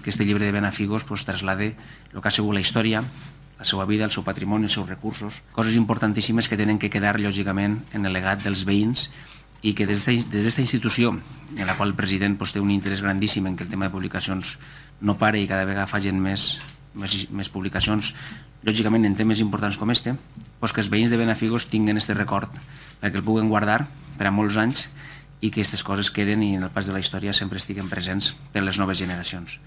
que este llibre de Benafigos traslade el que ha sigut la història, la seva vida, el seu patrimoni, els seus recursos, coses importantíssimes que tenen que quedar, lògicament, en el legat dels veïns i que des d'esta institució, en la qual el president té un interès grandíssim en que el tema de publicacions no pare i cada vegada facin més publicacions, lògicament en temes importants com este, que els veïns de Benafigos tinguin aquest record perquè el puguen guardar per a molts anys i que aquestes coses queden i en el pas de la història sempre estiguen presents per a les noves generacions.